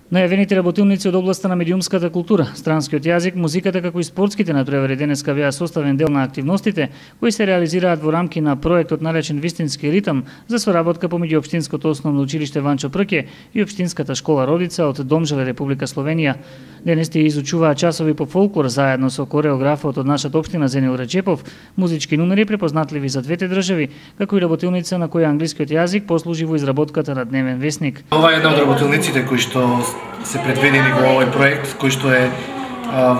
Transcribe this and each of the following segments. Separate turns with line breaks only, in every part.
Најавените работилници од областта на медиумската култура, странскиот јазик, музиката како и спортските натпревари денеска беа составен дел на активностите кои се реализираат во рамки на проектот наречен Вистински ритам за соработка помеѓу Општинското основно училиште Ванчо Прке и Општинската школа Родица од Домжале, Република Словенија. Денес тие изучуваат часови по фолклор заедно со кореографот од нашата општина Зенил Речепов, музички numери препознатливи за двете држави, како и работилница на која англискиот јазик послужи во изработката на дневен весник.
Ова е една од работилниците кои што се предвидени во овој проект, кој што е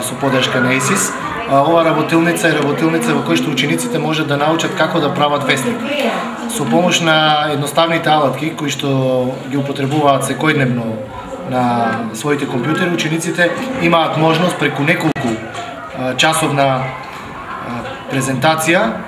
со поддршка на ЕСИС. Ова работилница е работилница во која што учениците можат да научат како да прават весник. Со помош на едноставните алатки кои што ги употребуваат секојдневно на своите компјутери, учениците имаат можност преку неколку часовна презентација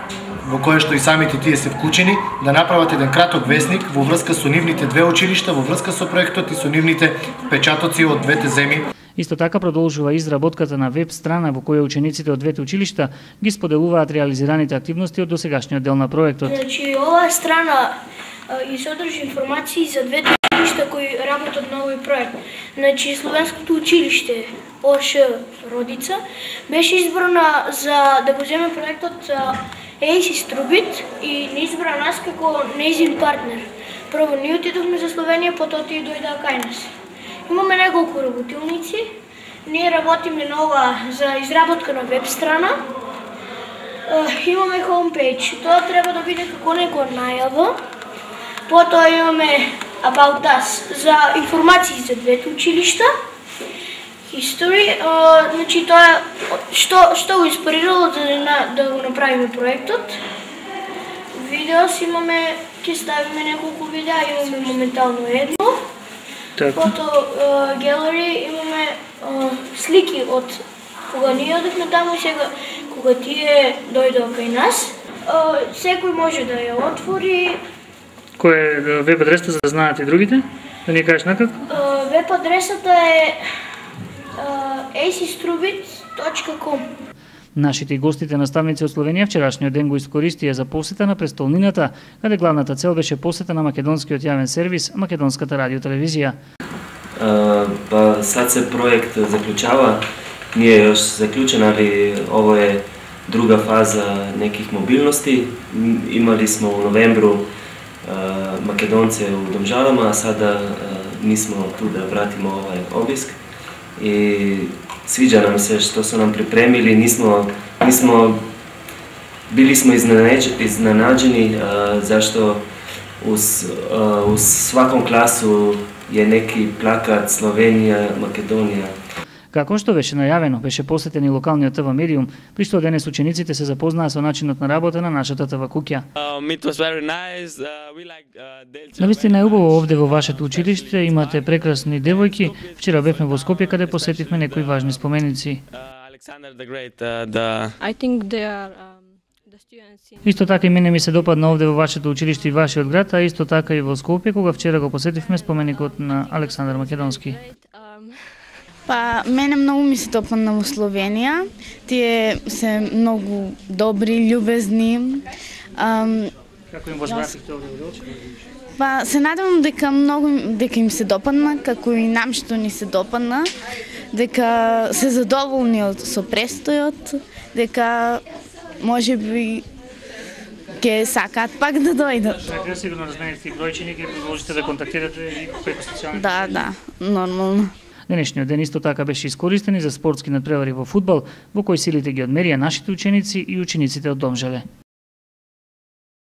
во која што и самите тие се вклучени да направат еден краток весник во врска со нивните две училишта, во врска со проектот и со нивните печатоци од двете земји.
Исто така продолжува изработката на веб страна во која учениците од двете училишта ги споделуваат реализираните активности од досегашниот дел на проектот.
Значи, оваа страна и содржи информации за двете училишта кои работат на овој проект. Значи, Словенското училиште ОШ Родица беше избрана за да го земе проектот ЕСИС Трубит и не избра нас како нејзин партнер. Прво ние отидовме за Словенија, потоа тие дојдоа кај нас. Имаме неколку работилници. Ние работиме на ова за изработка на веб страна. Имаме homepage. Тоа треба да биде како некоја најава. Потоа имаме About Us за информации за двете училишта. History, значи тоа што го инспирирало да го направиме проектот. Видеос имаме, ќе ставиме неколку видеа, имаме моментално едно. Потоа галери имаме слики од кога ние одевме таму и сега кога тие дојдоа кај нас. Секој може да ја отвори.
Кој е веб адресата за да знаат и другите? Да ни кажеш накако?
Веб адресата е asistrubit.com.
Нашите и гостите наставници од Словенија вчерашниот ден го искористија за посета на престолнината, каде главната цел беше посета на македонскиот јавен сервис, Македонската радиотелевизија.
Сад се проект заклучава, не е још заклучен, али ово е друга фаза неких мобилности. Имали смо во новембру македонце у Домжалама, а сада ми смо ту да вратиме овај обиск. И свиѓа нам се што се нам припремили, били смо изненаđeni зашто у сваком класу е неки плакат Словенија, Македонија.
Како што беше најавено, беше посетен и локалниот ТВ медиум, при што денес учениците се запознаа со начинот на работа на нашата ТВ куќа. Навистина е убаво овде во вашето училиште, имате прекрасни девојки. Вчера бевме во Скопје каде посетивме некои важни споменици. Исто така и мене ми се допадна овде во вашето училиште и вашиот град, а исто така и во Скопје кога вчера го посетивме споменикот на Александар Македонски.
Мене многу ми се допадна во Словенија. Тие се многу добри, љубезни.
Како им возбративте овде во очи?
Се надевам дека им се допадна, како и нам што ни се допадна, дека се задоволни со престојот, дека можеби ќе сакаат пак да дојдат.
Така сигурно размените и бројчини, ќе продолжите да контактирате и преку социјалните
мрежи. Да, нормално.
Денешниот ден исто така беше искористен и за спортски натпревари во фудбал, во кој силите ги одмерија нашите ученици и учениците од Домжале.